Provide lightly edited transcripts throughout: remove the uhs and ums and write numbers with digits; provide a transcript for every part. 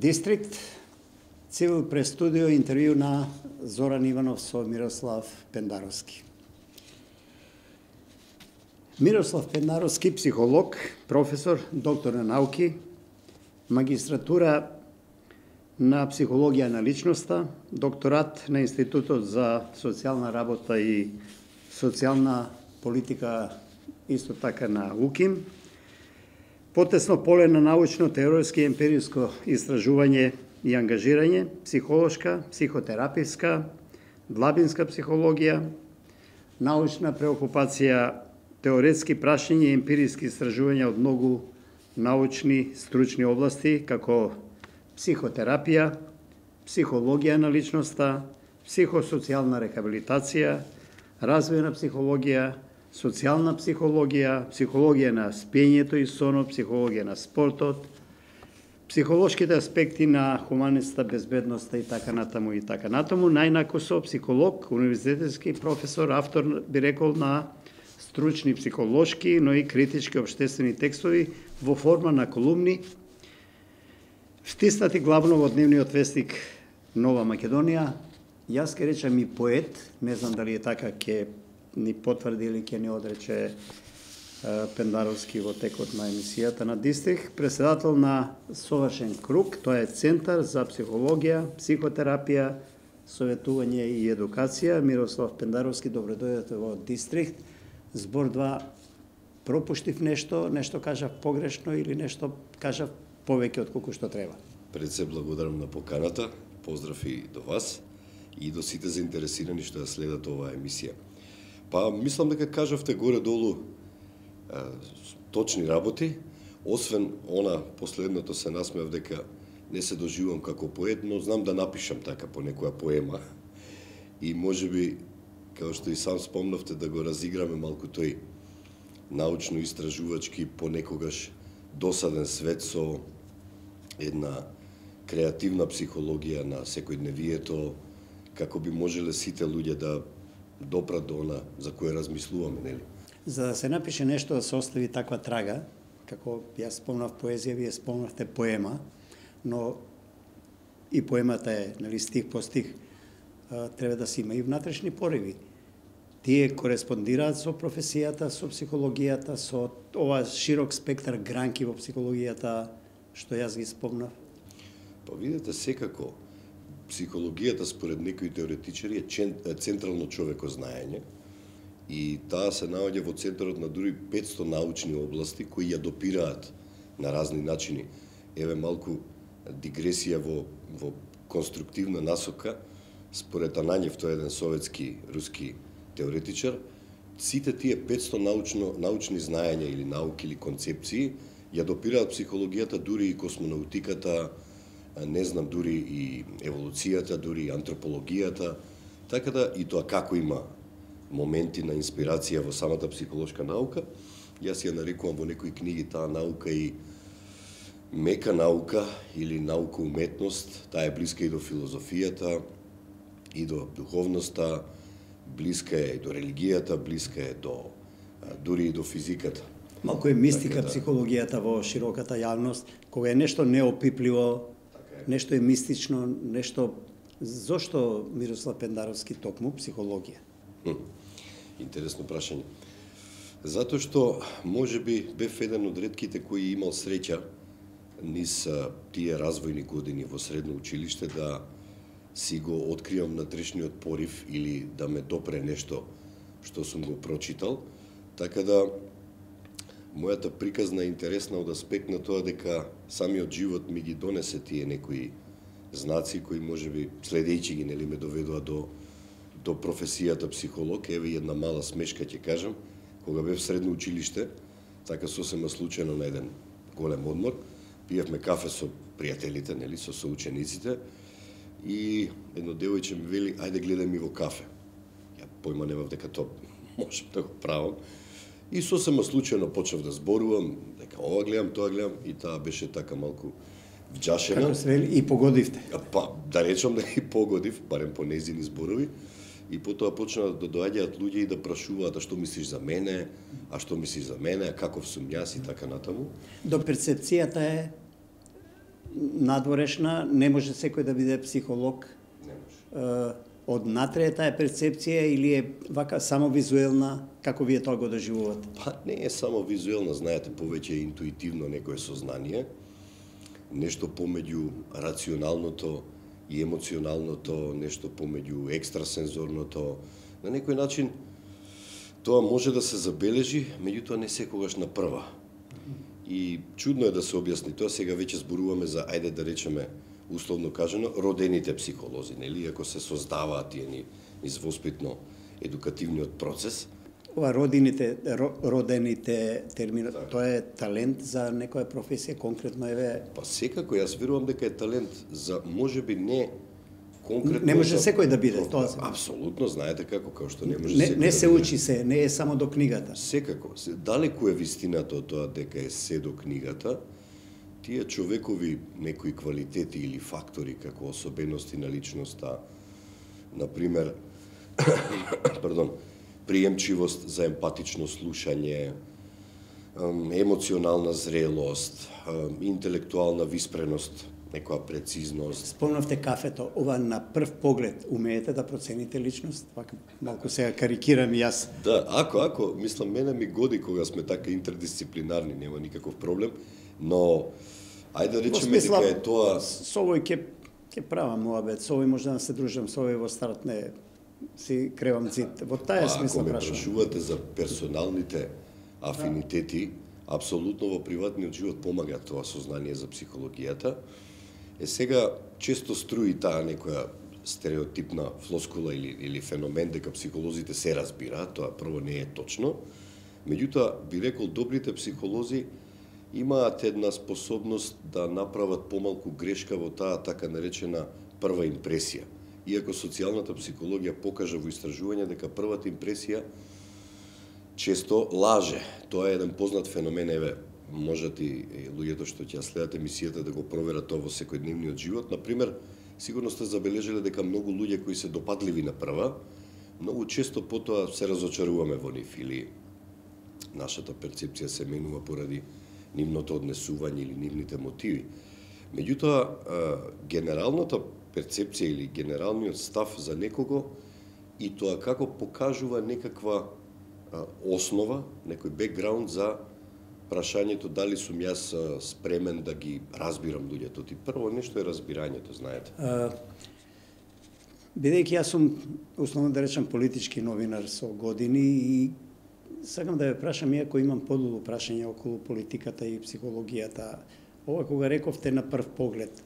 Дистрикт, Цивил прес студио, интервју на Зоран Иванов со Мирослав Пендаровски. Мирослав Пендаровски, психолог, професор, доктор на науки, магистратура на психологија на личноста, докторат на Институтот за социјална работа и социјална политика, исто така на УКИМ, потесно поле на научно-теоретски емпириско истражување и ангажирање, психолошка, психотерапевска, длабинска психологија, научна преокупација, теоретски прашања и емпириски истражувања од многу научни, стручни области, како психотерапија, психологија на личноста, психосоцијална рехабилитација, развојна психологија, социјална психологија, психологија на спиењето и сонот, психологија на спортот, психолошките аспекти на хуманеста, безбедноста и така натаму и така натаму. Најнако со психолог, универзитетски професор, автор, би рекол, на стручни психолошки, но и критички обштествени текстови во форма на колумни, втиснати главно во дневниот вестник Нова Македонија. Јас ке речам и поет, не знам дали е така, ке ни потврди или ке ни одрече Пендаровски во текот на емисијата на Дистрикт, председател на Совршен круг, тоа е Центар за психологија, психотерапија, советување и едукација. Мирослав Пендаровски, добро дојдете во Дистрикт. Збор 2, пропуштив нешто кажав погрешно или нешто кажав повеќе од колку што треба? Пред се благодарам на поканата, поздрав и до вас и до сите заинтересирани што ја следат оваа емисија. Па, мислам дека кажавте горе-долу точни работи, освен она последното се насмеав дека не се доживувам како поет, но знам да напишам така по некоја поема. И можеби, како што и сам спомнавте, да го разиграме малку тој научно-истражувачки, понекогаш досаден свет со една креативна психологија на секојдневието, како би можеле сите луѓе да допрат до она за кое размислуваме, нели? За да се напише нешто, да се остави таква трага, како јас спомнав поезија, вие спомнавте поема, но и поемата е, нели, стих по стих, треба да се има и внатрешни пориви. Тие кореспондираат со професијата, со психологијата, со ова широк спектар гранки во психологијата, што јас ги спомнав? Па видите, секако, психологијата според некои теоретичари е централно човекознаење и таа се наоѓа во центарот на дури 500 научни области кои ја допираат на разни начини. Еве малку дигресија во конструктивна насока, според Ананјев, тој е еден советски, руски теоретичар, сите тие 500 научни знаења или науки или концепции ја допираат психологијата, дури и космонаутиката, не знам, дури и еволуцијата, дури и антропологијата, така да и тоа како има моменти на инспирација во самата психолошка наука. Јас ја нарекувам во некои книги таа наука и мека наука или наука уметност, таа е блиска и до филозофијата, и до духовноста, блиска е и до религијата, блиска е до дури и до физиката. Малку е мистика психологијата во широката јавност, кога е нешто неопипливо, нешто е мистично, нешто... Зошто Мирослав Пендаровски токму психологија? Интересно прашање. Затоа што можеби бев еден од ретките кои имал среќа низ тие развојни години во средно училиште да си го откривам внатрешниот порив или да ме допре нешто што сум го прочитал, така да мојата приказна е интересна од аспект на тоа дека самиот живот ми ги донесе тие некои знаци кои можеби следејќи ги, нели, ме доведува до професијата психолог. Еве една мала смешка ќе кажам. Кога бев средно училиште, така сосема случајно на еден голем одмор, пиевме кафе со пријателите, нели, со соучениците, и едно девојче ми вели, ајде гледај ми во кафе. Ја појма немав дека тоа можам да го правам. И сосема случајно почнав да зборувам, дека ова гледам, тоа гледам, и таа беше така малку вџашена. Како се вели, и погодивте? Па, да речам дека и погодив, барем по нејзини зборови. И потоа почнаа да доаѓаат луѓе и да прашуваат, а што мислиш за мене, а што мислиш за мене, а каков сум јас и така натаму. До перцепцијата е надворешна, не може секој да биде психолог. Не може. Однатре е таа перцепција или е вака само визуелна, како вие тоа го доживувате? Па не е само визуелна, знаете, повеќе е интуитивно некое сознание, нешто помеѓу рационалното и емоционалното, нешто помеѓу екстрасензорното. На некој начин тоа може да се забележи, меѓутоа не секогаш на прва. И чудно е да се објасни тоа, сега веќе зборуваме за, ајде да речеме, условно кажано, родените психолози, нели, ако се создаваат тие низ воспитно едукативниот процес. Ова родените термини, тоа е талент за некоја професија, конкретно еве? Па секако, јас верувам дека е талент за, можеби не конкретно... Не може секој да биде, тоа се. Апсолутно, знаете како, као што не може секој секој не се да биде. учи се, не е само до книгата. Секако, далеку е вистината од тоа дека е се до книгата. Тие човекови некои квалитети или фактори како особености на личноста, например, приемчивост за емпатично слушање, емоционална зрелост, интелектуална виспреност, некоја прецизност. Спомнавте кафето, ова на прв поглед умеете да процените личност? Вака малку сега карикирам и јас. Да, ако, мислам, мене ми годи кога сме така интердисциплинарни, нема никаков проблем, но ајде да речеме дека е тоа... Со овој ќе правам муабет, со овој може да се дружам, со овој во старт не си кревам цит. Во таа смисла прашувам. Ако ме прашувам. прашувате за персоналните афинитети, апсолутно во приватниот живот помага тоа сознание за психологијата. Сега често струи таа некоја стереотипна флоскула или феномен дека психолозите се разбираат, тоа прво не е точно. Меѓутоа, би рекол, добрите психолози имаат една способност да направат помалку грешка во таа така наречена прва импресија. Иако социјалната психологија покажа во истражување дека првата импресија често лаже. Тоа е еден познат феномен, еве, можат и луѓето што ќе следат емисијата да го проверат тоа во секојдневниот живот. Например, сигурно сте забележале дека многу луѓе кои се допадливи на прва, многу често потоа се разочаруваме во нив или нашата перцепција се менува поради нивното однесување или нивните мотиви. Меѓутоа, генералната перцепција или генералниот став за некого и тоа како покажува некаква основа, некој бекграунд за прашањето дали сум јас спремен да ги разбирам луѓето. Ти прво нешто е разбирањето, знаете. Бидејќи јас сум, условно да речам, политички новинар со години и сакам да ве прашам, иако имам подолу прашање околу политиката и психологијата, ова кога рековте на прв поглед,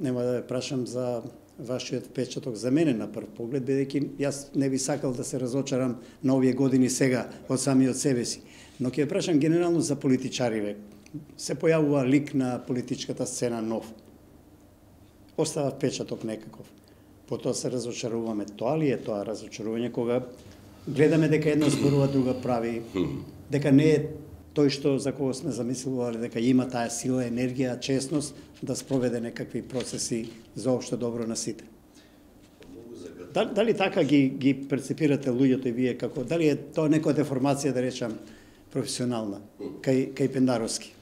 нема да ве прашам за вашиот впечаток за мене на прв поглед, бидејќи јас не би сакал да се разочарам на овие години сега од самиот себе си. Но ќе прашам генерално за политичариве. Се појавува лик на политичката сцена нов. Остава впечаток некаков. Потоа се разочаруваме. Тоа ли е тоа разочарување кога гледаме дека едно зборува, друга прави, дека не е тој што за кого сме замислувале, дека има таа сила, енергија, честност да спроведе некакви процеси за општо добро на сите. Дали така ги перцепирате луѓето и вие како, дали е тоа некоја деформација, да речам, професионална, кај Пендаровски?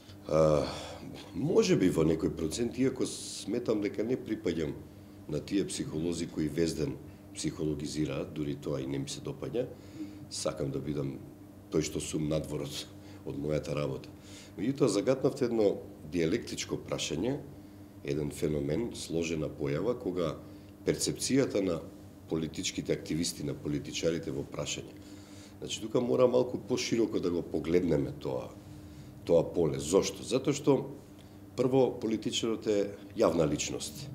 Може би во некој процент, иако сметам дека не припаѓам на тие психолози кои везден психологизираат, дури тоа и не ми се допаѓа. Сакам да бидам тој што сум надвор од мојата работа. Меѓутоа, загатнавте едно диалектичко прашање, еден феномен, сложена појава, кога перцепцијата на политичките активисти, на политичарите во прашање. Значи, тука мора малку пошироко да го погледнеме тоа поле. Зошто? Затоа што, прво, политичарот е јавна личност.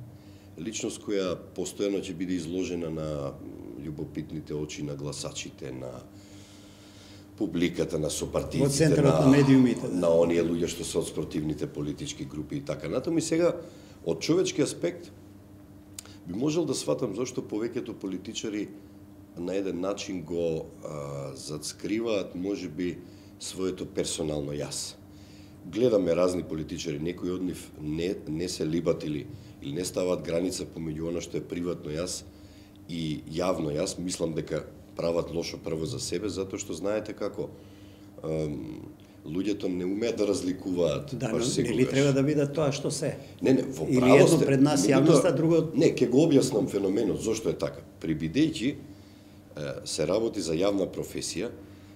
Личност која постојано ќе биде изложена на љубопитните очи на гласачите, на публиката, на сопартијците, во центарот на медиумите, на оние луѓе што се од спортивните политички групи и така натаму. И сега, од човечки аспект, би можел да сватам зашто повеќето политичари на еден начин го зацкриваат, можеби, своето персонално јас. Гледаме разни политичари, некои од нив не се либат или не стават граница помеѓу она што е приватно јас и јавно јас. Мислам дека прават лошо прво за себе, затоа што знаете како луѓето не умеат да разликуваат Да, баш секогаш. нели треба да биде тоа што се? Не, во Или право едно сте, пред нас јавноста, друго... Не, ќе го објаснам феноменот, зошто е така. Прибидејќи се работи за јавна професија,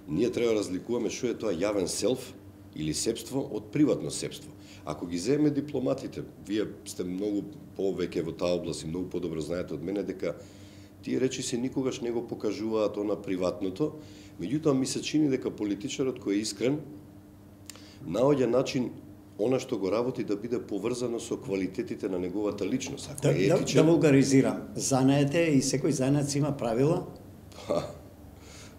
ние треба да разликуваме што е тоа јавен селф или сепство од приватно сепство. Ако ги земеме дипломатите, вие сте многу повеќе во таа област и многу подобро знаете од мене дека тие речи се никогаш не го покажуваат она приватното, меѓутоа ми се чини дека политичарот кој е искрен наоѓа начин она што го работи да биде поврзано со квалитетите на неговата личност. Ако е етичен... Да вулгаризирам. Занаете и секој занаец има правила.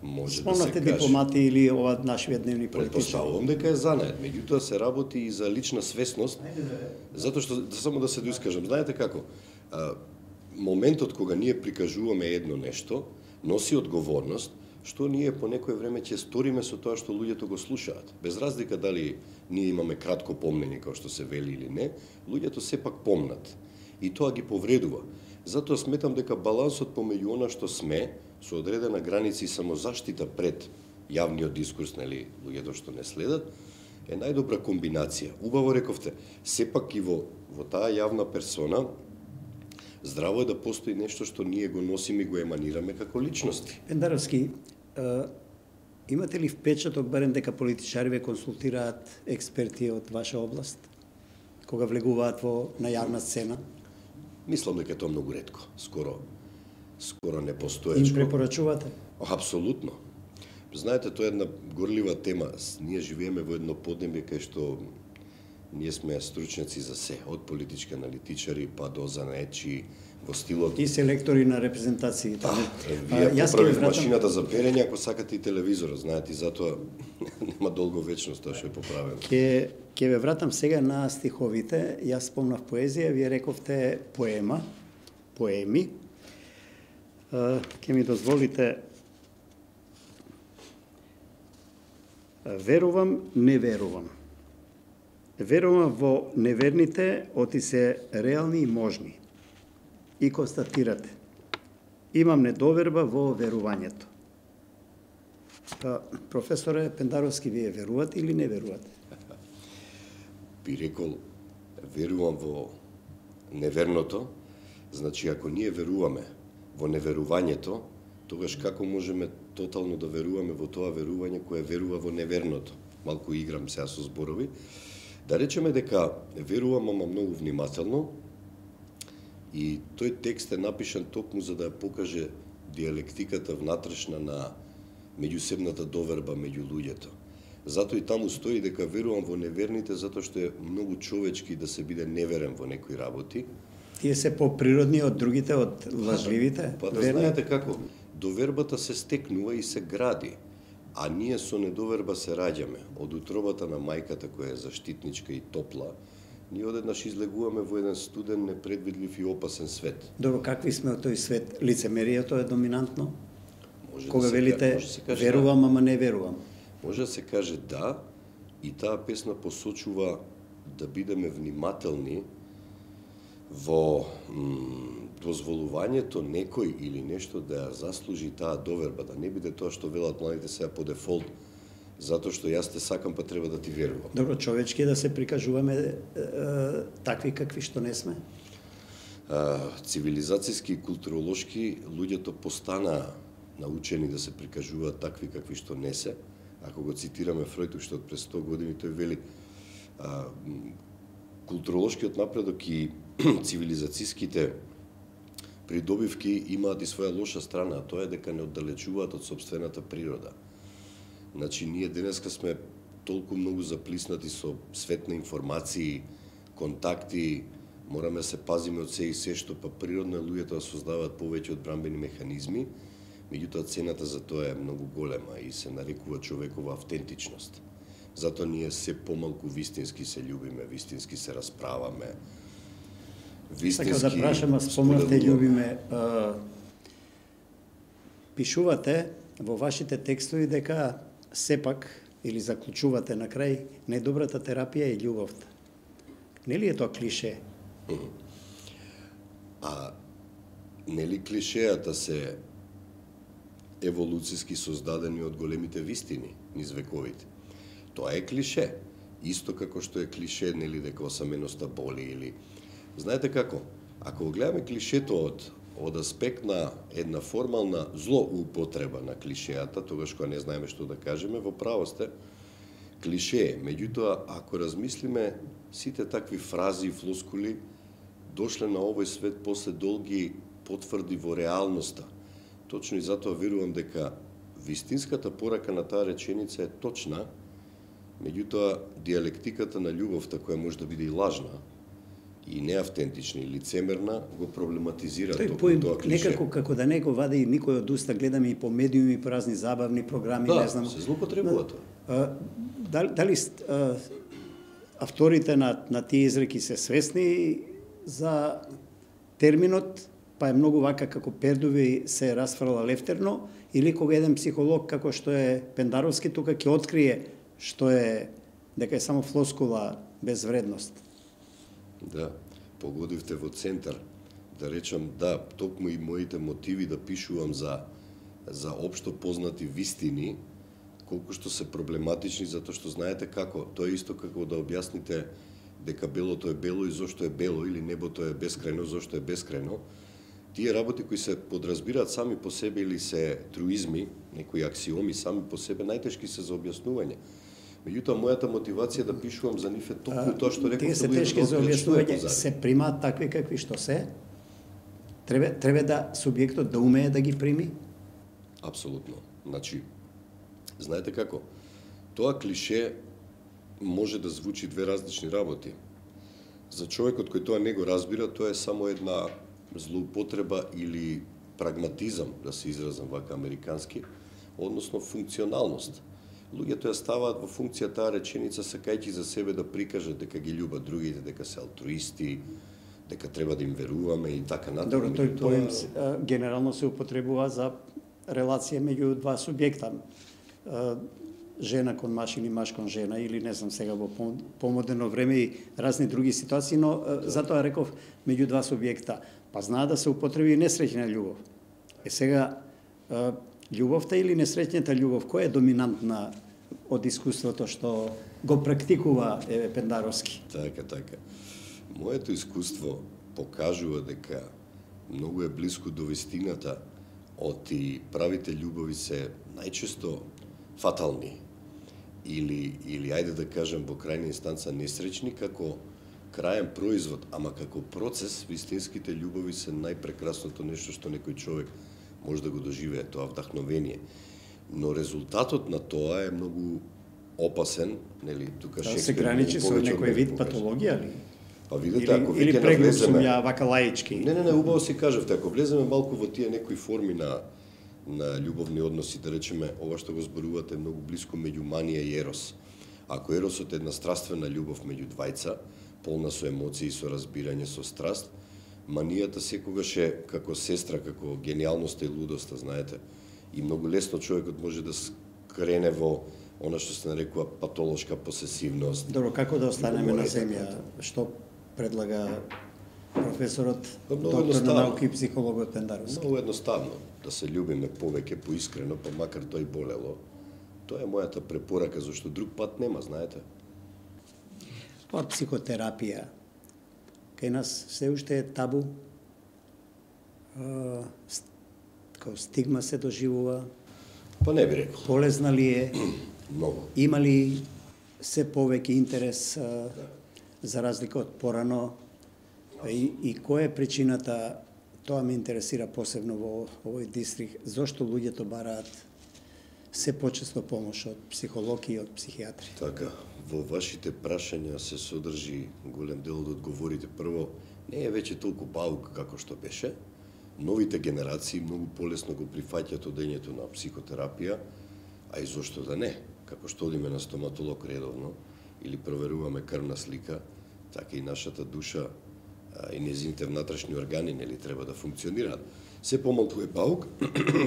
Може Спомнате да се каже. дипломати или ова нашиот дневни политичари? Предпоставувам дека е занает, меѓутоа се работи и за лична свесност, затоа што само да се доискажам, знаете како? Моментот кога ние прикажуваме едно нешто, носи одговорност, што ние по некој време ќе сториме со тоа што луѓето го слушаат. Без разлика дали ние имаме кратко помнење, како што се вели или не, луѓето сепак помнат. И тоа ги повредува. Затоа сметам дека балансот помеѓу она што сме, со одредена граница и самозаштита пред јавниот дискурс, нели, луѓето што не следат, е најдобра комбинација. Убаво рековте, сепак и во таа јавна персона, здраво е да постои нешто што ние го носиме и го еманираме како личности. Пендаровски, имате ли впечаток барем дека политичари ве консултираат експерти од ваша област, кога влегуваат на јавна сцена? Мислам дека тоа многу ретко, скоро не Им постоечко. препорачувате? Апсолутно. Знаете, тоа е една горлива тема. Ние живееме во едно поднебје кај што ние сме стручњаци за се, од политички аналитичари па до занаечи во стилот. И селектори на репрезентациите. Вие поправив машината за перење, ако сакате и телевизорот, знаете, и затоа нема долго вечност тоа што е поправено. Ќе ве вратам сега на стиховите. Јас спомнав поезија, вие рековте поеми. Ќе ми дозволите верувам, не верувам. Верувам во неверните, оти се реални и можни. И констатирате. Имам недоверба во верувањето. Професоре Пендаровски, вие верувате или не верувате? Би рекол, верувам во неверното, значи ако ние веруваме во неверувањето, тогаш како можеме тотално да веруваме во тоа верување кое верува во неверното? Малку играм сега со зборови. Да речеме дека верувам, ама многу внимателно, и тој текст е напишан токму за да ја покаже диалектиката внатрешна на меѓусебната доверба меѓу луѓето. Затоа и таму стои дека верувам во неверните, затоа што е многу човечки да се биде неверен во некои работи. Тие се поприродни од другите, од лажливите? Па да знаете како, довербата се стекнува и се гради, а ние со недоверба се раѓаме. Од утробата на мајката која е заштитничка и топла, ние одеднаш излегуваме во еден студен, непредвидлив и опасен свет. Добро, какви сме од тој свет? Лицемерието е доминантно? Може Кога да се велите каже верувам, ама не верувам. Може да се каже да, и таа песна посочува да бидеме внимателни во дозволувањето некој или нешто да ја заслужи таа доверба, да не биде тоа што велат младите сега по дефолт, затоа што јас те сакам па треба да ти верувам. Добро, човечки да се прикажуваме такви какви што не сме? Цивилизацијски и културолошки луѓето постана научени да се прикажуваат такви какви што не се. Ако го цитираме Фројд уште од пред 100 години, тој вели културолошкиот напредок и цивилизацијските придобивки имаат и своја лоша страна, а тоа е дека не оддалечуваат од сопствената природа. Значи, ние денеска сме толку многу заплиснати со свет на информации, контакти, мораме да се пазиме од се и се што па природно е луѓето да создаваат повеќе одбранбени механизми, меѓутоа цената за тоа е многу голема и се нарекува човекова автентичност. Затоа ние се помалку вистински се љубиме, вистински се расправаме, вистински Сакам да прашам, спомнавте љубиме, пишувате во вашите текстови дека сепак, или заклучувате на крај, најдобрата терапија е љубовта. Нели е тоа клише? А нели клишеата се еволуцијски создадени од големите вистини низ вековите? Тоа е клише. Исто како што е клише, нели, дека осаменоста боли или... Знаете како? Ако го гледаме клишето од аспект на една формална злоупотреба на клишеата, тогаш кога не знаеме што да кажеме, во право сте, клише е. Меѓутоа, ако размислиме, сите такви фрази и флоскули дошле на овој свет после долги потврди во реалноста. Точно и затоа верувам дека вистинската порака на таа реченица е точна, меѓутоа диалектиката на љубовта, која може да биде и лажна, и неавтентична и лицемерна, го проблематизира тоа клише. Некако како да не го вади никој од уста, гледаме и по медиуми, по разни забавни програми, да, не знам. се злоупотребува тоа. Дали авторите на тие изреки се свесни за терминот, па е многу вака како пердуви се расфрла лефтерно, или кога еден психолог како што е Пендаровски тука ќе открие што е, дека е само флоскула без вредност. Да, погодивте во центар. Да речам, да, токму и моите мотиви да пишувам за општо познати вистини, колку што се проблематични, затоа што знаете како, тоа е исто како да објасните дека белото е бело и зошто е бело, или небото е бескрајно, зошто е бескрајно. Тие работи кои се подразбираат сами по себе или се труизми, некои аксиоми сами по себе, најтешки се за објаснување. Меѓутоа, мојата мотивација да пишувам за нив е токму тоа што реков. Тие се тешки за објаснување, се примаат такви какви што се. Треба да субјектот да умее да ги прими. Апсолутно. Значи, знаете како? Тоа клише може да звучи две различни работи. За човекот кој тоа не го разбира, тоа е само една злоупотреба или прагматизам, да се изразам вака американски, односно функционалност. Луѓето ја ставаат во функција таа реченица сакајќи за себе да прикажат дека ги љубат другите, дека се алтруисти, дека треба да им веруваме и така натаму. Добро, тој поем генерално се употребува за релација меѓу два субјекта. Жена кон маж или маж кон жена, или не знам сега во помодерно време и разни други ситуации, но затоа реков меѓу два субјекта. Па знаа да се употреби несреќна љубов. Сега, љубовта или несреќната љубов, која е доминантна од искуството што го практикува Пендаровски? Така. Моето искуство покажува дека многу е близко до вистината, оти правите љубови се најчесто фатални или ајде да кажем во крајна инстанца несреќни како крајен производ, ама како процес вистинските љубови се најпрекрасното нешто што некој човек може да го доживее, тоа вдахновение. Но резултатот на тоа е многу опасен, нели, тука Шекспир се граничи со некој вид патологија ли? Па видете, ако или преглуп сум ја вака лаички. Не, убаво си кажавте, ако влеземе малку во тие некои форми на љубовни односи, да речеме, ова што го зборувате многу близко меѓу манија и ерос. Ако еросот е една страствена љубов меѓу двајца, полна со емоции, со разбирање, со страст, манијата секогаш е како сестра, како гениалноста и лудоста, знаете. И многу лесно човекот може да скрене во она што се нарекува патолошка посесивност. Добро, како да останеме на земја? Што предлага професорот, доктор на науки и психологот Пендаровски? Многу едноставно, да се љубиме повеќе, поискрено, па макар тој болело. Тоа е мојата препорака, зашто друг пат нема, знаете. Па психотерапија, кај нас се уште е табу, како стигма се доживува. Па не би рекол. Полезна ли е? Многу. Има ли се повеќе интерес за разлика од порано? И која е причината, тоа ме интересира посебно во овој дистрикт, зошто луѓето бараат се почесто помош од психологи и од психијатри? Така, во вашите прашања се содржи голем дел од одговорите. Прво, не е веќе толку баук како што беше. Новите генерации многу полесно го прифаќаат одењето на психотерапија, а и зошто да не? Како што одиме на стоматолог редовно или проверуваме крвна слика, така и нашата душа и незините внатрешни органи нели треба да функционираат. Се помалку е баук,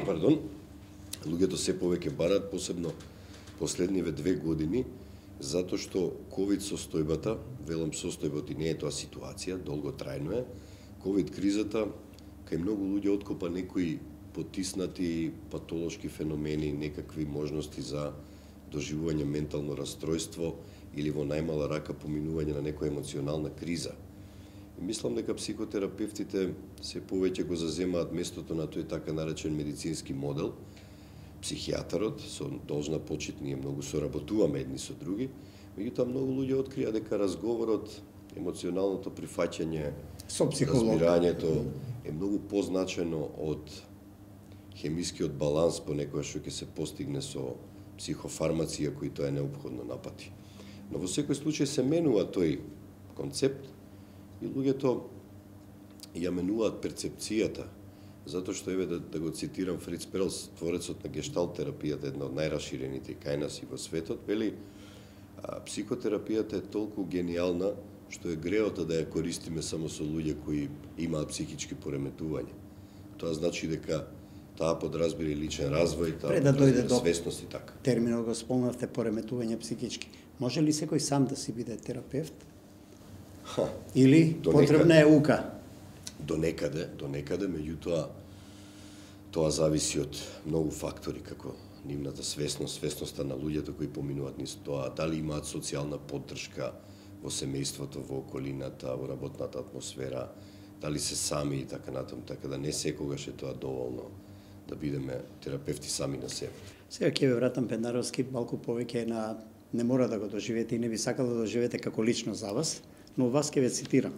пардон, луѓето се повеќе бараат, посебно последниве 2 години, затоа што ковид состојбата, велам состојбата и не е тоа ситуација, долготрајно е, ковид кризата, кај многу луѓе откопа некои потиснати патолошки феномени, некакви можности за доживување ментално расстройство или во најмала рака поминување на некоја емоционална криза. И мислам дека психотерапевтите се повеќе го заземаат местото на тој така наречен медицински модел. Психијатарот, со должна почит, ние многу соработуваме едни со други, меѓутоа многу луѓе открија дека разговорот, емоционалното прифаќање, со психолог, разбирањето е многу позначено од хемискиот баланс понекогаш што ќе се постигне со психофармација кои тоа е неопходно напати. Но во секој случај се менува тој концепт и луѓето ја менуваат перцепцијата, затоа што еве да го цитирам Фриц Перлс, творецот на гешталт терапијата, една од најраширените кај нас и во светот, вели психотерапијата е толку гениална што е греото да ја користиме само со луѓе кои имаат психички пореметувања. Тоа значи дека таа подразбира и личен развој, таа Пред да дојде до свесност и така. терминот го спомнавте, пореметување психички. Може ли секој сам да си биде терапевт? Или потребна е ука? До некаде, меѓутоа тоа зависи од многу фактори, како нивната свесност, свесноста на луѓето кои поминуваат низ тоа, дали имаат социјална поддршка во семејството, во околината, во работната атмосфера, дали се сами и така натаму, така да не секогаш е тоа доволно да бидеме терапевти сами на себе. Сега ќе ве вратам Пендаровски малку повеќе на не мора да го доживеете и не би сакал да доживеете како лично за вас, но вас ќе ве цитирам.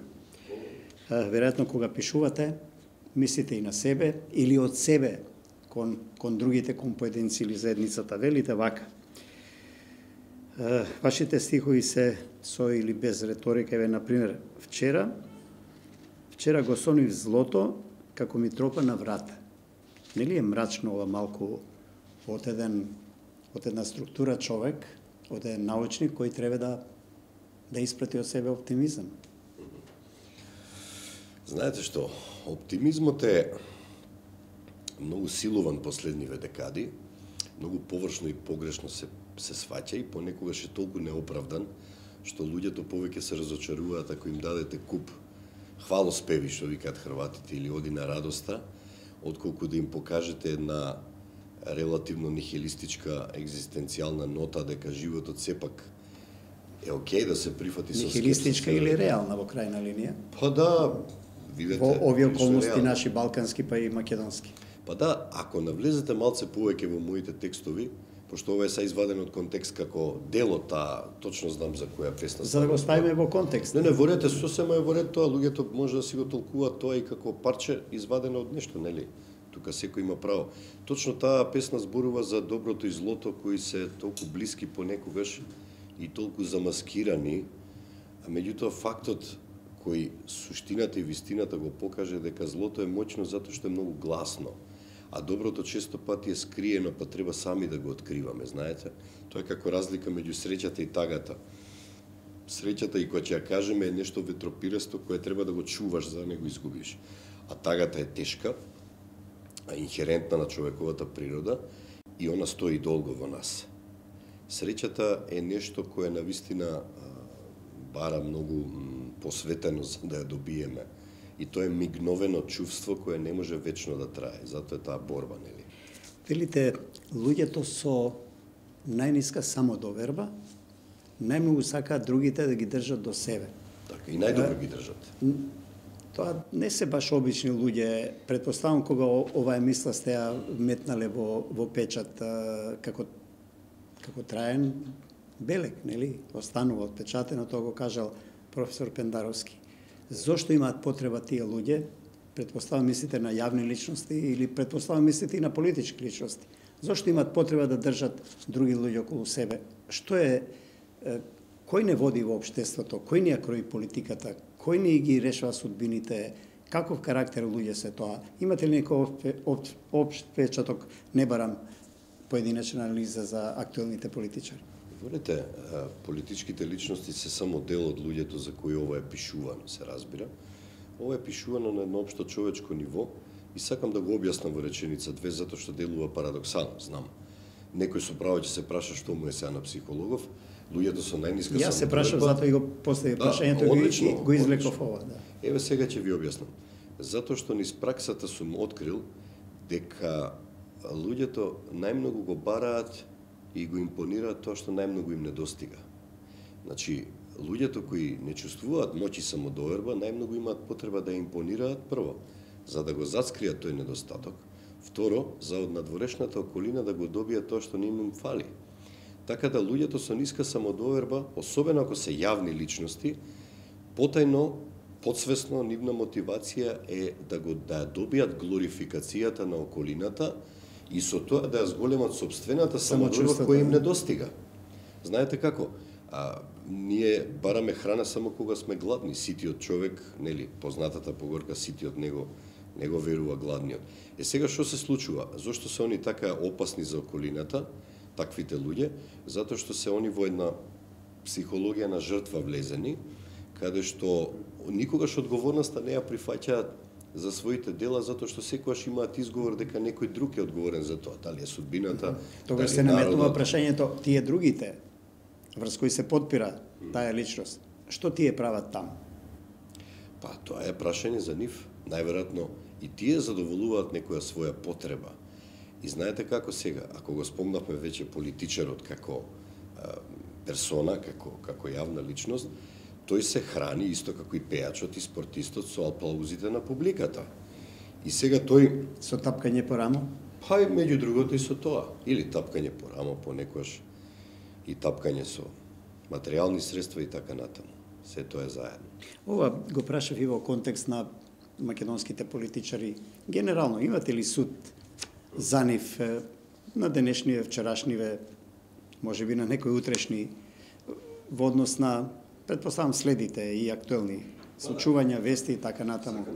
Веројатно кога пишувате, мислите и на себе или од себе кон другите, кон поединци или заедницата. Велите вака: вашите стихови се со или без риторика, еве например, вчера го сонив злото како ми тропа на врата. Нели е мрачно ова малку од една структура човек, од еден научник кој треба да испрати од себе оптимизам? Знаете што, оптимизмот е многу силуван последниве декади, многу површно и погрешно се сваќа и понекогаш е толку неоправдан, што луѓето повеќе се разочаруваат ако им дадете куп хвалоспеви, што викаат хрватите, или оди на радоста, отколку да им покажете една релативно нихилистичка екзистенцијална нота дека животот сепак е окей да се прифати со нихилистичка или реална во крајна линија? Па да, видете. Во овие околности наши балкански па и македонски. Па да, ако навлезете малце повеќе во моите текстови, пошто ова е са изваден од контекст како дел од таа, точно знам за која песна. За да го ставиме во контекст. Не, во ред е сосема е во ред тоа, луѓето може да си го толкуваат тоа и како парче извадено од нешто, нели? Тука секој има право. Точно таа песна зборува за доброто и злото кои се толку блиски понекогаш и толку замаскирани, а меѓутоа фактот кој суштината и вистината го покаже дека злото е моќно затоа што е многу гласно, а доброто често пати е скриено, па треба сами да го откриваме, знаете? Тоа е како разлика меѓу среќата и тагата. Среќата, и кога ќе ја кажеме, е нешто ветропиресто кое треба да го чуваш за да не го изгубиш. А тагата е тешка, инхерентна на човековата природа и она стои долго во нас. Среќата е нешто кое навистина бара многу посветено за да ја добиеме. И тоа е мигновено чувство кое не може вечно да трае. Затоа е таа борба, нели? Велите, луѓето со најниска самодоверба најмногу сакаат другите да ги држат до себе. Така, и најдобро ги држат. Тоа не се баш обични луѓе. Претпоставам кога оваа мисла сте ја метнале во печат како траен белег, нели? Останува отпечатено, тоа го кажал професор Пендаровски. Зошто имаат потреба тие луѓе? Претпоставам мислите на јавни личности или претпоставам мислите и на политички личности. Зошто имаат потреба да држат други луѓе околу себе? Што е кој не води во општеството? Кој не ја крои политиката? Кој не ги решава судбините? Каков карактер луѓе се тоа? Имате ли некој општ впечаток? Не барам поединечна анализа за актуелните политичари. Видете, политичките личности се само дел од луѓето за кои ова е пишувано, се разбира. Ова е пишувано на едно општо човечко ниво и сакам да го објаснам во реченица две, затоа што делува парадоксално, знам. Некој со право ќе се праша што му е сега на психологов, луѓето со најниска самодоверба. Јас се прашав, затоа и го постави прашањето и го извлеков ова. Да. Еве сега ќе ви објаснам. Затоа што низ праксата сум открил дека луѓето најмногу го бараат и го импонираат тоа што најмногу им недостига. Значи, луѓето кои не чувствуваат моќ и самодоверба, најмногу имаат потреба да импонираат прво, за да го зацкријат тој недостаток, второ, за од надворешната околина да го добијат тоа што не им фали. Така да луѓето со ниска самодоверба, особено ако се јавни личности, потајно, подсвесно, нивна мотивација е да добијат глорификацијата на околината и со тоа да ја зголемат собствената самодоверба која им недостига. Знаете како? Ние бараме храна само кога сме гладни. Ситиот човек, нели, познатата поговорка ситиот него верува гладниот. Сега што се случува? Зошто се они така опасни за околината, таквите луѓе? Затоа што се они во една психологија на жртва влезени, каде што никогаш одговорноста не ја прифаќаат за своите дела, затоа што секогаш имаат изговор дека некој друг е одговорен за тоа. Дали е судбината, тогаш се наметнува прашањето, тие другите врз кои се подпира таа личност, што тие прават таму? Па, тоа е прашање за нив. Најверојатно и тие задоволуваат некоја своја потреба. И знаете како сега, ако го спомнавме веќе политичарот како персона, како јавна личност, тој се храни исто како и пејачот и спортистот со аплаузите на публиката. И сега тој... Со тапкање по рамо? Па и меѓу другото и со тоа. Или тапкање по рамо, понекогаш и тапкање со материјални средства и така натаму. Се тоа е заедно. Ова го прашав и во контекст на македонските политичари. Генерално, имате ли суд за нив на денешниве, вчерашниве, можеби на некои утрешни, во однос на, предпоставам, следите и актуелни случувања, вести и така натаму.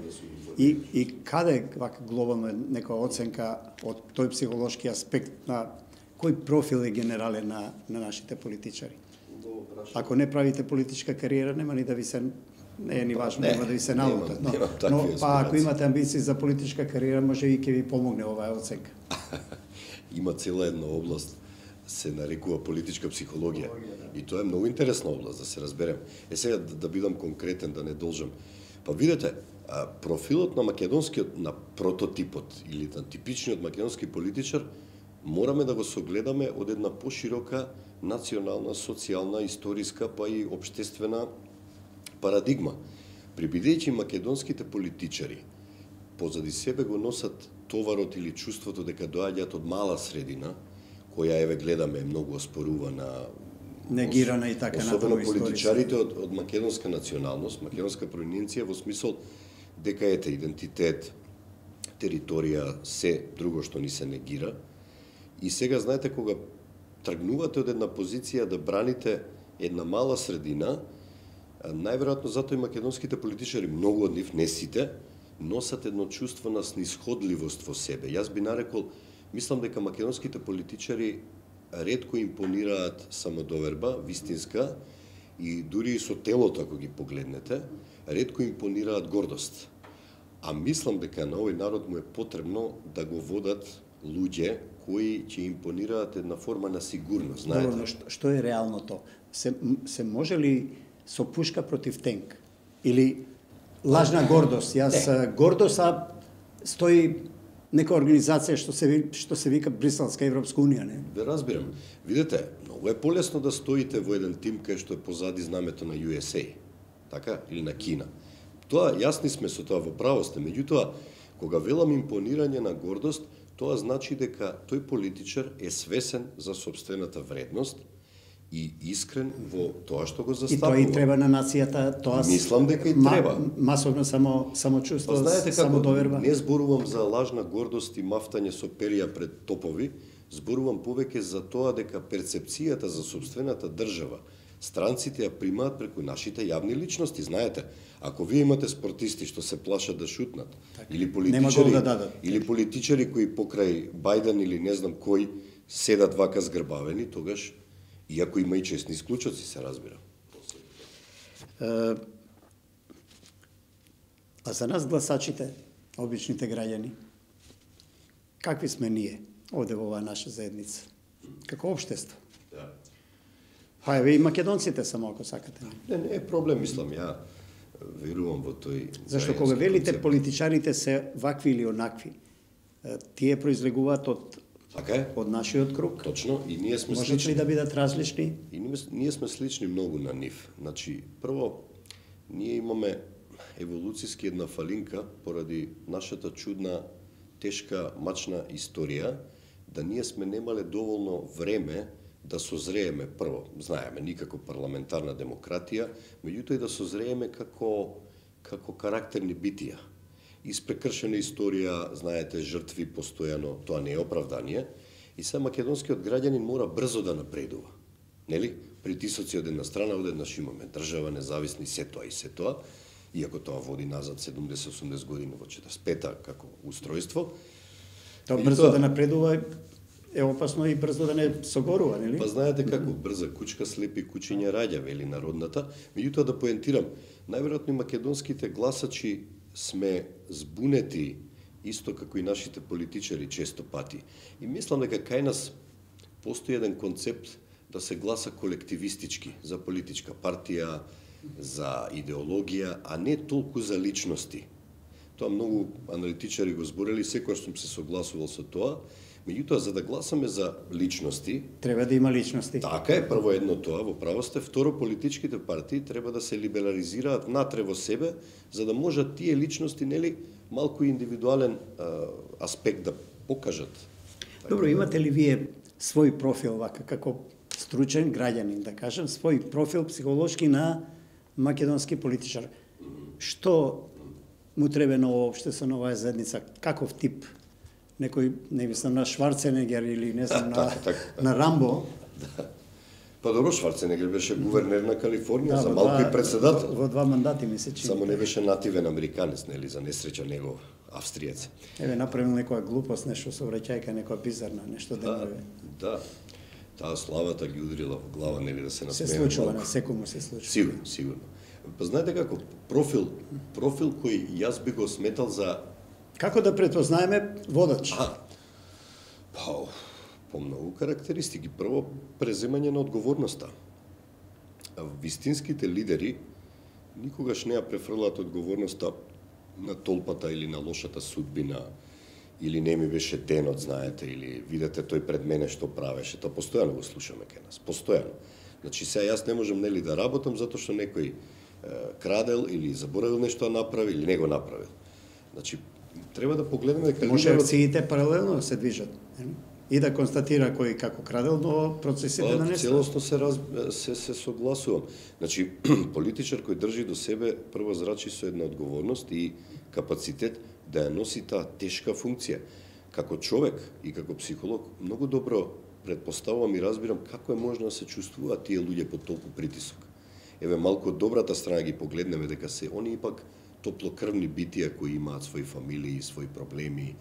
И каде вака глобално е некоја оценка од тој психолошки аспект на кој профил е генерален на нашите политичари? Ако не правите политичка кариера, нема ни да ви се, не е ни важно, нема да ви се наутат. Но ако имате амбиции за политичка кариера, може и ќе ви помогне оваа оценка. Има цела една област, се нарекува политичка психологија. И тоа е многу интересна област, да се разберем. Сега да бидам конкретен, да не должам. Па видете, профилот на македонскиот, на прототипот или на типичниот македонски политичар, мораме да го согледаме од една поширока национална, социјална, историска, па и општествена парадигма. Прибидејќи македонските политичари позади себе го носат товарот или чувството дека доаѓаат од мала средина, која еве гледаме многу оспорувана, негирана и така натаму, особено политичарите од македонска националност, македонска провиненција, во смисол дека ете идентитет, територија, се друго што ни се негира. И сега знаете кога тргнувате од една позиција да браните една мала средина, најверојатно затоа и македонските политичари, многу од нив, не сите, носат едно чувство на снисходливост во себе. Јас би нарекол, мислам дека македонските политичари ретко импонираат самодоверба, вистинска, и дури и со телото, ако ги погледнете, ретко импонираат гордост. А мислам дека на овој народ му е потребно да го водат луѓе кои ќе импонираат една форма на сигурност. Знаете? Добро, што е реалното? Се може ли со пушка против тенк? Или лажна гордост? Гордост, стои нека организација што се вика Бриселска Европска унија, не? Да разбирам. Видете, многу е полесно да стоите во еден тим кај што е позади знамето на USA, така, или на Кина. Тоа јасни сме со тоа, во право сте, меѓутоа кога велам импонирање на гордост, тоа значи дека тој политичар е свесен за собствената вредност и искрен во тоа што го застапува. И тоа и треба на нацијата, тоа мислам дека и треба. Масовно самочувство, знаете самодоверба. Не зборувам за лажна гордост и мафтање со перија пред топови, зборувам повеќе за тоа дека перцепцијата за собствената држава странците ја примаат преку нашите јавни личности. Знаете, ако вие имате спортисти што се плашат да шутнат, или политичари кои покрај Бајден или не знам кој седат вака згрбавени, тогаш, иако има и честни исклучоци, се разбира. А за нас гласачите, обичните граѓани, какви сме ние овде во оваа наша заедница? Како општество? Да. Па еве и македонците само ако сакате. Не е проблем, мислам, ја верувам во тој... Зашто кога велите политичарите се вакви или онакви, тие произлегуваат од Така е. од нашиот круг? Точно, и ние сме Можат слични. ли да бидат различни? И ние сме слични многу на нив. Значи, прво, ние имаме еволуцијски една фалинка поради нашата чудна, тешка, мачна историја, да ние сме немале доволно време да созрееме прво. Знаеме, никако парламентарна демократија, меѓутоа и да созрееме како карактерни битија. Испрекршена историја, знаете, жртви постојано, тоа не е оправдание. И сега македонскиот граѓанин мора брзо да напредува. Нели? Притисоци од една страна, од еднаш имаме држава, независни, се тоа, иако тоа води назад 70-80 години во 45-та како устројство. Тоа брзо да напредува е опасно и брзо да не согорува, нели? Па знаете како, брза кучка слепи кучиња раѓа, вели народната. Меѓутоа да поентирам, најверојатно и македонските гласачи сме збунети исто како и нашите политичари често пати. И мислам дека кај нас постои еден концепт да се гласа колективистички за политичка партија, за идеологија, а не толку за личности. Тоа многу аналитичари го зборели, секојаш сум се согласувал со тоа. Меѓутоа, за да гласаме за личности, треба да има личности. Така е, прво едно тоа, во право сте, второ, политичките партии треба да се либерализираат натре во себе, за да можат тие личности, нели, малку индивидуален аспект да покажат. Добро, имате ли вие свој профил, вака, како стручен граѓанин, да кажем, свој профил психолошки на македонски политичар? Што му треба на општество, на оваа заедница? Каков тип? Некој, не мислам на Шварценегер или не знам на Рамбо. Да. Па добро, Шварценегер беше гувернер на Калифорнија, за малку и председател. Во 2 мандати ми се чини. Само не беше нативен американец, нели, за несреќа него австриец. Еве, направил некоја глупост, нешто со враќајка, некоја бизарна, нешто да направи. Да. Таа славата ги удрила во глава, нели, да се насмееме. Се случува, на секому се случува. Сигурно, сигурно. Па знаете како, профил кој јас би го сметал за... Како да претпознаеме водач? Па, по многу карактеристики. Прво, преземање на одговорноста. Вистинските лидери никогаш не ја префрлаат одговорноста на толпата или на лошата судбина, или не ми беше денот, знаете, или видете тој пред мене што правеше. Тоа постојано го слушаме кај нас, постојано. Значи, сега јас не можам, нели, да работам затоа што некој крадел или заборавил нешто да направи или не го направил. Значи, треба да погледнеме дека може акциите паралелно да се движат и да констатира кој како крадел, но процесите да не целосно се согласувам. Значи, политичар кој држи до себе прво зрачи со една одговорност и капацитет да ја носи таа тешка функција. Како човек и како психолог многу добро претпоставувам и разбирам како е можно да се чувствуваат тие луѓе под толку притисок. Еве малку од добрата страна ги погледнеме дека се они ипак топлокрвни битија кои имаат своји фамилии, своји проблеми.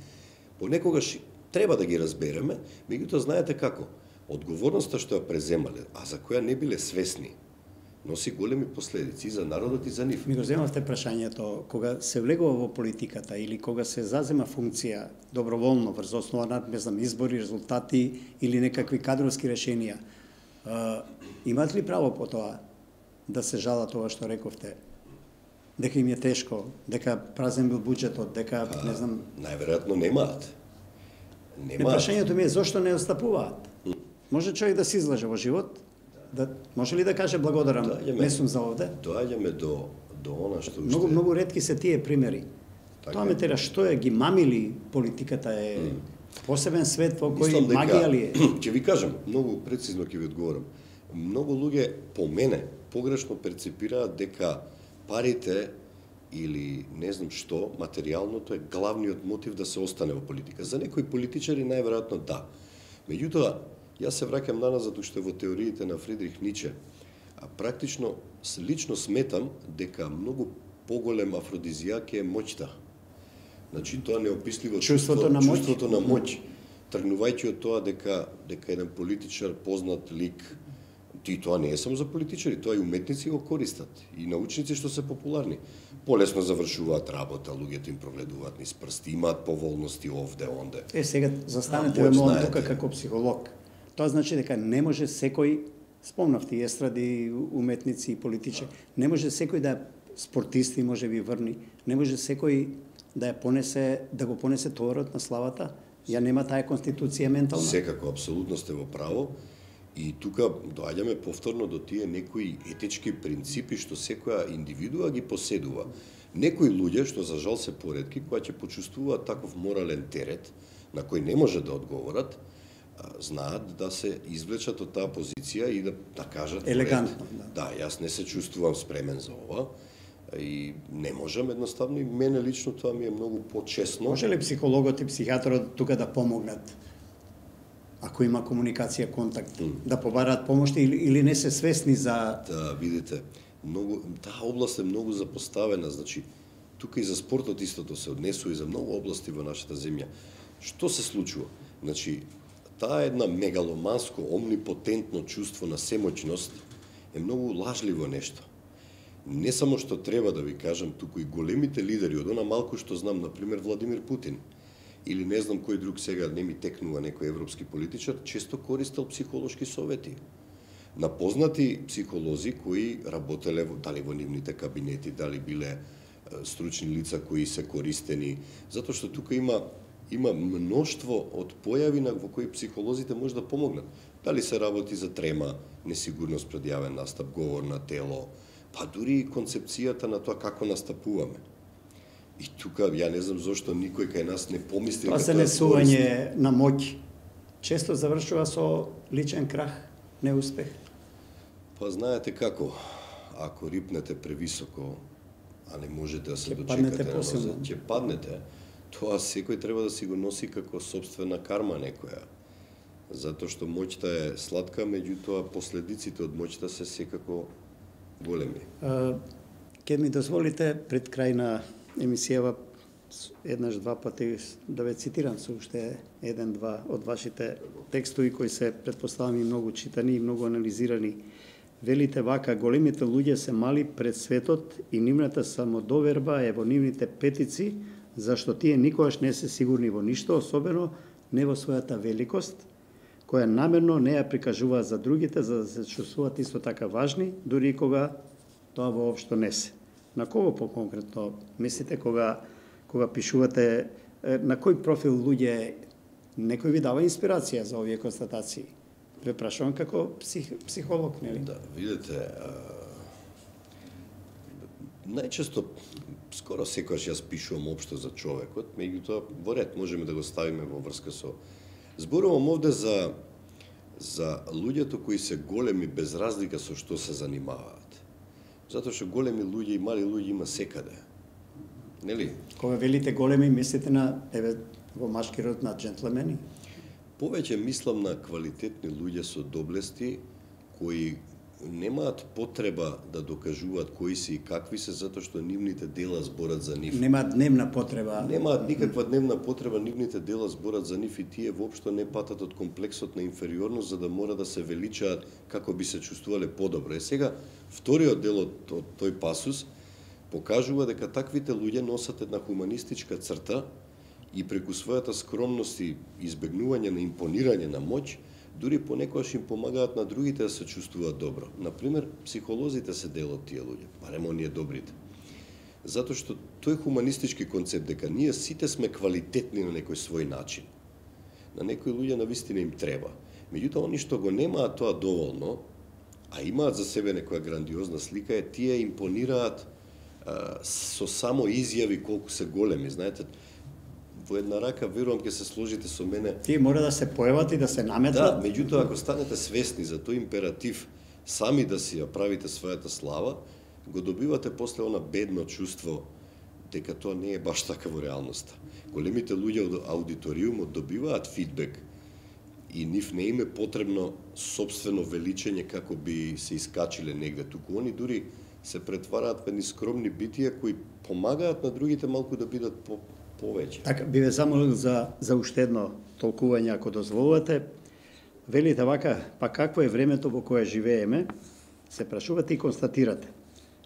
Понекогаш треба да ги разбереме, меѓутоа знаете како, одговорноста што ја преземале, а за која не биле свесни, носи големи последици и за народот и за нив. Ми го земавте прашањето, кога се влегува во политиката или кога се зазема функција доброволно врз основа на, не знам, избори, резултати или некакви кадровски решенија, имаат ли право по тоа да се жала тоа што рековте? Дека им е тешко, дека празен бил буџетот, дека, не знам... Најверојатно немаат. Прашањето ми е зошто не отстапуваат? Може човек да се излаже во живот? Може ли да каже благодарам, не сум за овде? Доаѓаме до она што Многу ретки се тие примери. Тоа ме тера, што е, ги мамили политиката е посебен свет во кој магија ли е? Ќе ви кажам, многу прецизно ќе ви одговорам. Многу луѓе по мене погрешно перцепираат дека парите или не знам што, материјалното е главниот мотив да се остане во политика. За некои политичари најверојатно да. Меѓутоа, јас се враќам наназад уште во теориите на Фридрих Ниче. А практично, лично сметам дека многу поголем афродизијак е моќта. Значи, тоа неописливо чувството на моќ. Тргнувајќи од тоа дека еден политичар, познат лик, и тоа не е само за политичари, тоа и уметници го користат, и научници што се популарни. Полесно завршуваат работа, луѓето им прогледуваат низ прсти, имаат поволности овде, онде. Сега застанете во момент тука како психолог. Тоа значи дека не може секој, спомнавте и естради, уметници и политичари, не може секој да спортисти, може би врни, не може секој да го понесе товарот на славата. Ја нема таа конституција ментална. Секако, апсолутно сте во право. И тука доаѓаме повторно до тие некои етички принципи што секоја индивидуа ги поседува. Некои луѓе, што за жал се поретки, кои ќе почувствуваат таков морален терет, на кој не може да одговорат, знаат да се извлечат од таа позиција и да кажат елегантно. Да, јас не се чувствувам спремен за ова и не можам едноставно, и мене лично тоа ми е многу почесно. Може ли психологот и психијатрот тука да помогнат? Ако има комуникација, контакт, да побараат помош или не се свесни за... Да, видите, таа област е многу запоставена, значи, тука и за спортот истото се однесува и за многу области во нашата земја. Што се случува? Значи, таа една мегаломанско, омнипотентно чувство на семоќност е многу лажливо нешто. Не само што треба да ви кажам, туку и големите лидери, од она малку што знам, например, Владимир Путин, или не знам кој друг сега, не ми текнува некој европски политичар, често користел психолошки совети на познати психолози кои работеле дали во нивните кабинети, дали биле стручни лица кои се користени, затоа што тука има мноштво од појави во кои психолозите може да помогнат. Дали се работи за трема, несигурност пред јавен настап, говор на тело, па дури и концепцијата на тоа како настапуваме. И тука, ја не знам зошто никој кај нас не помисли... Тоа се несување на моќ често завршува со личен крах, неуспех. Па знаете како, ако рипнете превисоко, а не можете да се дочекате на нозет, ќе паднете, тоа секој треба да си го носи како собствена карма некоја. Затоа што моќта е сладка, меѓутоа последиците од моќта се секако големи. Ке ми дозволите пред крај на емисијава еднаш-два пати да ве цитирам со уште еден-два од вашите текстови кои се претпоставам и многу читани и многу анализирани. Велите вака: големите луѓе се мали пред светот и нивната самодоверба е во нивните петици, зашто тие никогаш не се сигурни во ништо, особено не во својата великост, која намерно не ја прикажуваат за другите, за да се чувствуваат исто така важни, дури и кога тоа воопшто не се. На кого по-конкретно мислите кога пишувате, на кој профил луѓе некој ви дава инспирација за овие констатации? Ве прашувам како психолог, нели? Да, видите, најчесто, скоро секогаш јас пишувам општо за човекот, меѓутоа во ред можеме да го ставиме во врска со... Зборувам овде за луѓето кои се големи без разлика со што се занимаваат. Затоа што големи луѓе и мали луѓе има секаде. Нели? Кога велите големи, мислите на, во машки род, на джентлемени? Повеќе мислам на квалитетни луѓе со доблести кои немаат потреба да докажуваат кои се и какви се, затоа што нивните дела зборат за нив. Немаат дневна потреба. Немаат никаква дневна потреба, нивните дела зборат за нив и тие воопшто не патат од комплексот на инфериорност за да мора да се величаат како би се чувствувале подобро. Сега, вториот дел од тој пасус покажува дека таквите луѓе носат една хуманистичка црта и преку својата скромност и избегнување на импонирање на моќ, дури понекогаш им помагаат на другите да се чувствуваат добро. Например, психолозите се дел од тие луѓе, барем оние добрите. Затоа што тој хуманистички концепт дека ние сите сме квалитетни на некој свој начин. На некои луѓе навистина им треба. Меѓутоа, они што го немаат тоа доволно, а имаат за себе некоја грандиозна слика, тие импонираат со само изјави колку се големи. Знаете, во една рака, верувам, ќе се сложите со мене. Тие мора да се појават и да се наметнат. Да, меѓутоа, ако станете свесни за тој императив, сами да си ја правите својата слава, го добивате после она бедно чувство дека тоа не е баш така во реалноста. Големите луѓе од аудиториумот добиваат фидбек и нив не им е потребно собствено величење како би се искачиле негде, туку они дури се претвараат во скромни битија кои помагаат на другите малку да бидат повеќе. Така, би ве замолил за уште едно толкување, ако дозволувате. Велите вака: па какво е времето во кое живееме? Се прашувате и констатирате.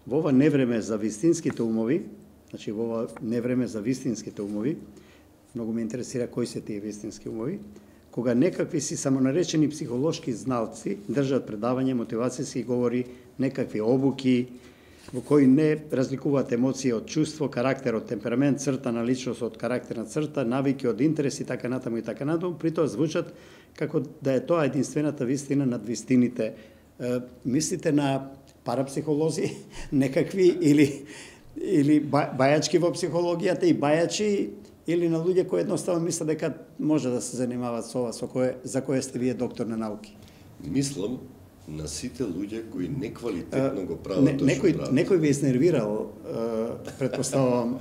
Во ова невреме за вистинските умови, значи во ова невреме за вистинските умови, многу ме интересира кои се тие вистински умови, кога некакви си самонаречени психолошки зналци држат предавање, мотивацијски говори, некакви обуки, во кои не разликуваат емоции од чувство, карактер од темперамент, црта на личност од карактерна црта, навики од интереси, така натаму и така натаму, при тоа звучат како да е тоа единствената вистина над вистините. Мислите на парапсихолози некакви или бајачки во психологијата и бајачи, или на луѓе кои едноставно мислат дека може да се занимаваат со ова, за кое сте вие доктор на науки? Мислам на сите луѓе кои неквалитетно го прават тоа што прават. Некој ви изнервирал, претпоставувам,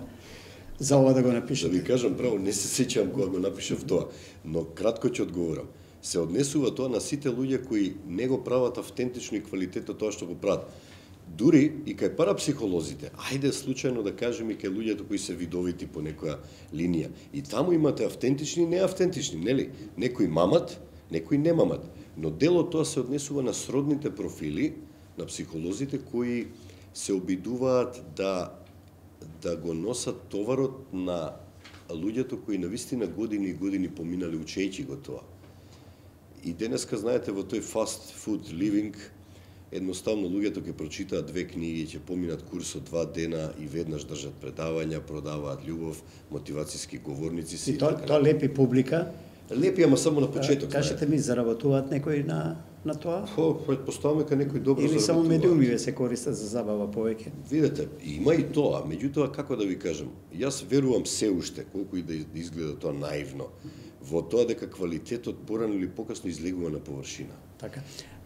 за ова да го напишете. Да ви кажам право, не се сеќавам кога го напишав тоа, но кратко ќе одговорам. Се однесува тоа на сите луѓе кои не го прават автентично и квалитетно тоа што го прават. Дури и кај парапсихолозите, ајде случајно да кажеме и кај луѓето кои се видовити по некоја линија. И таму имате автентични и неавтентични, нели? Некои мамат, некои не мамат. Но дел од тоа се однесува на сродните профили на психолозите кои се обидуваат да го носат товарот на луѓето кои навистина години и години поминали учејќи го тоа. И денеска, знаете, во тој fast food living, едноставно луѓето ќе прочитаат 2 книги, ќе поминат курс од 2 дена и веднаш држат предавања, продаваат љубов, мотивацијски говорници си. И тоа лепи публика. Лепи, ама само на почеток. Кажете ми, заработуваат некои на тоа? Предпоставаме дека некој добро или заработуваат. Или само медиумиве се користат за забава повеќе? Видете, има и тоа, меѓутоа, како да ви кажам, јас верувам се уште, колку и да изгледа тоа наивно, во тоа дека квалитетот порано или покасно излегува на површина. Така.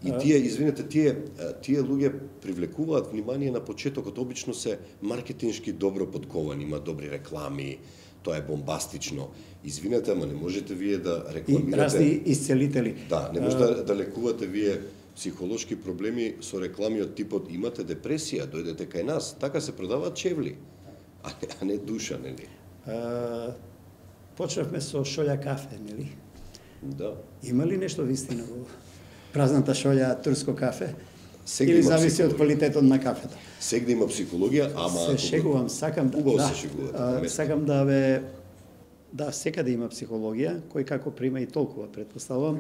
И тие луѓе привлекуваат внимание на почетокот, обично се маркетиншки добро подковани, има добри реклами, тоа е бомбастично. Извинете, ама не можете вие да рекламирате... И разни исцелители. Да, не може да лекувате вие психолошки проблеми со реклами од типот имате депресија, дојдете кај нас. Така се продаваат чевли, а не душа, нели? Почнавме со шолја кафе, нели? Да. Има ли нешто вистина во празната шолја турско кафе? Сегде или зависи од квалитетот на кафето? Сегде има психологија, ама... Се шегувам, сакам сакам да секаде има психологија, кој како прима и толкова, предпоставувам.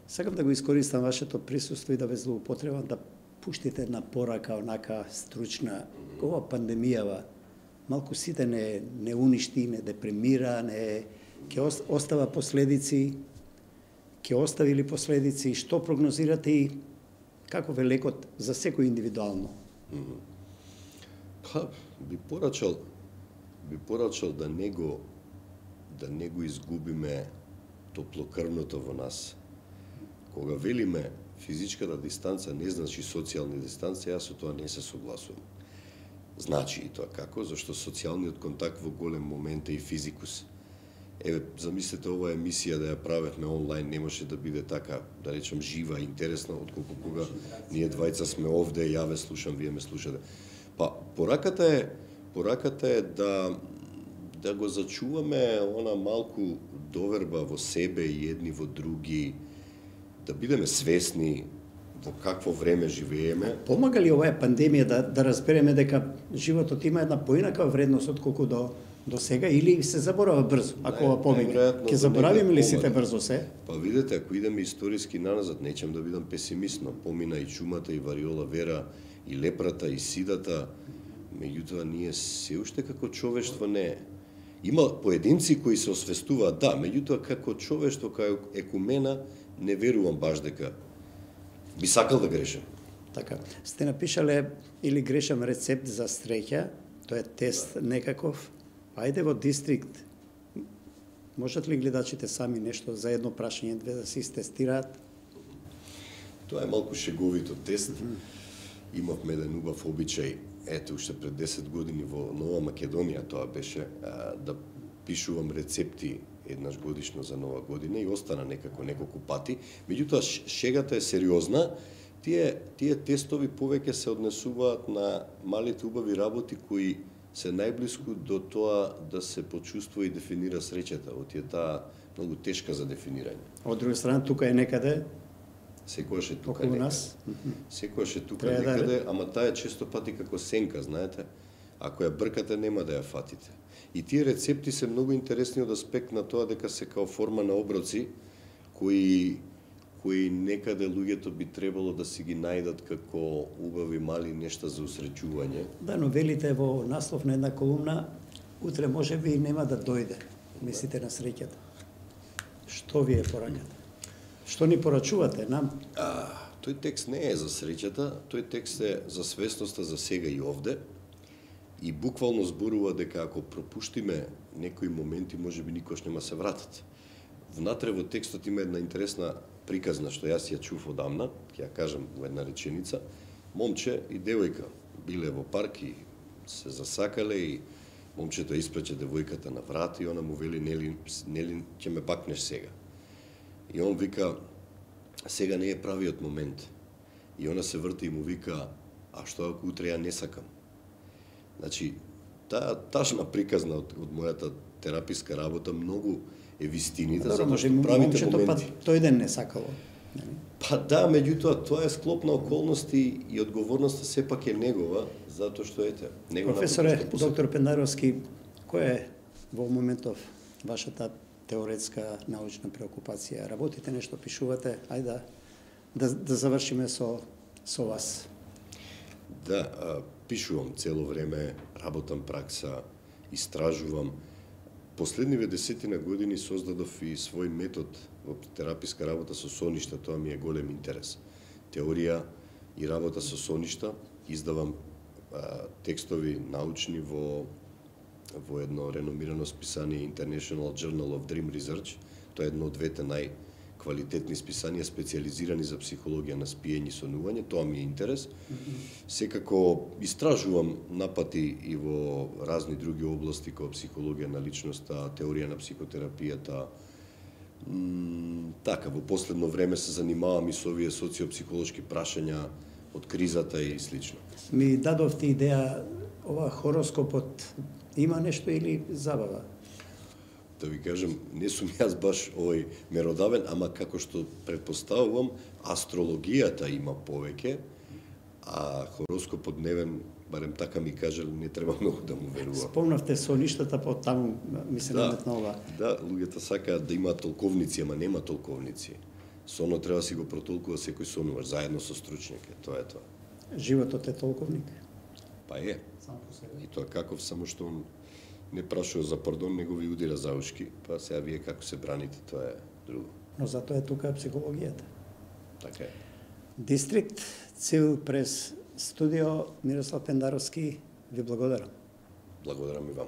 Сакам да го искористам вашето присуство и да ве злоупотребам, да пуштите една порака, онака стручна. Ова пандемијава малку сите не уништи, не депримира, ќе остава последици, ќе остави ли последици, што прогнозирате и како ве лекот за секој индивидуално? Би порачал да не го изгубиме топлокрвното во нас. Кога велиме физичката дистанца не значи социјална дистанца, јас со тоа не се согласувам. Значи и тоа како? Зашто социјалниот контакт во голем момент е и физикус. Замислете ова емисија да ја правевме онлайн, не може да биде така, да речем, жива, интересна, отколку кога ние двајца сме овде, ја ве слушам, вие ме слушате. Па, пораката е да го зачуваме она малку доверба во себе и едни во други, да бидеме свесни во какво време живееме. Помага ли оваа пандемија да разбереме дека животот има една поинака вредност отколку до сега, или се заборава брзо, ако ова помине? Ќе заборавиме ли сите брзо се? Па видете, ако идеме историски наназад, нечем да бидам песимист, но помина и чумата, и вариола вера, и лепрата, и сидата, меѓутоа ние се уште како човештво не. Има поединци кои се освестуваат, да, меѓутоа како човештво, како екумена, не верувам баш дека би сакал да грешам. Така, сте напишале или грешам рецепт за среќа, тоа е тест некаков. Ајде во дистрикт, можат ли гледачите сами нешто за едно прашање, две да се истестираат? Тоа е малку шеговито тест. Имавме еден убав обичај, ете, уште пред 10 години во Нова Македонија тоа беше, да пишувам рецепти еднаш годишно за Нова година и остана некако неколку пати. Меѓутоа, шегата е сериозна. Тие тестови повеќе се однесуваат на малите убави работи кои се најблиску до тоа да се почувствува и дефинира среќата. Оти е таа многу тешка за дефинирање. Од друга страна, тука е некаде секојаш е тука околу некаде. нас. Секојаш е тука некаде, ама таа е често пати како сенка, знаете. Ако ја бркате, нема да ја фатите. И тие рецепти се многу интересни од аспект на тоа дека се као форма на оброци кои кои некаде луѓето би требало да си ги најдат како убави мали нешта за усреќување. Да, но велите во наслов на една колумна, утре може би нема да дојде. Мислите на среќата. Што вие поракате? Што ни порачувате нам? Тој текст не е за среќата, тој текст е за свесноста за сега и овде. И буквално зборува дека ако пропуштиме некои моменти, може би никош нема се вратат. Внатре во текстот има една интересна приказна, што јас ја чув одамна, ќе ја кажам во една реченица. Момче и девојка биле во парк и се засакале и момчето испрече девојката на врат и она му вели, нели ќе ме бакнеш сега. И он вика, сега не е правиот момент. И она се врти и му вика, а што ако утре ја не сакам? Значи, таа тажна приказна од мојата тераписка работа многу е вистинита, затоа што правите моменти. Па тој ден не сакало. Па да, меѓутоа тоа е склоп на околности и одговорноста сепак е негова, затоа што ете, него Професоре, доктор Пендаровски, која е во моментов вашата теоретска научна преокупација? Работите нешто, пишувате? Ајде да завршиме со вас. Да, пишувам цело време, работам пракса, истражувам. Последниве 10 години создадов и свој метод во тераписка работа со соништа, тоа ми е голем интерес. Теорија и работа со соништа, издавам текстови научни во едно реномирано списание International Journal of Dream Research. Тоа е едно од двете најквалитетни списанија специјализирани за психологија на спиење и сонување, тоа ми е интерес. Секако истражувам напати и во разни други области како психологија на личноста, теорија на психотерапијата. Така, во последно време се занимавам и со овие социопсихолошки прашања од кризата и слично. Ми дадовте идеја, ова хороскопот има нешто или забава? Да ви кажем, не сум јас баш овој меродавен, ама како што предпоставувам, астрологијата има повеќе, а хороскопот дневен, барем така ми кажали, не треба многу да му верува. Спомнавте соништата, по таму ми се наметнува. Да, луѓето сакаат да имаат толковници, ама нема толковници. Сонот треба да си го протолкува секој сонуваш, заедно со стручњак, тоа е тоа. Животот е толковник? Па е. Сам по себе. И тоа каков, само што он не прашува за пардон, него ви удира за ушки, па сега вие како се браните, тоа е друго. Но затоа е тука психологијата. Така е. Дистрикт Цил прес студио, Мирослав Пендаровски, ви благодарам. Благодарам и вам.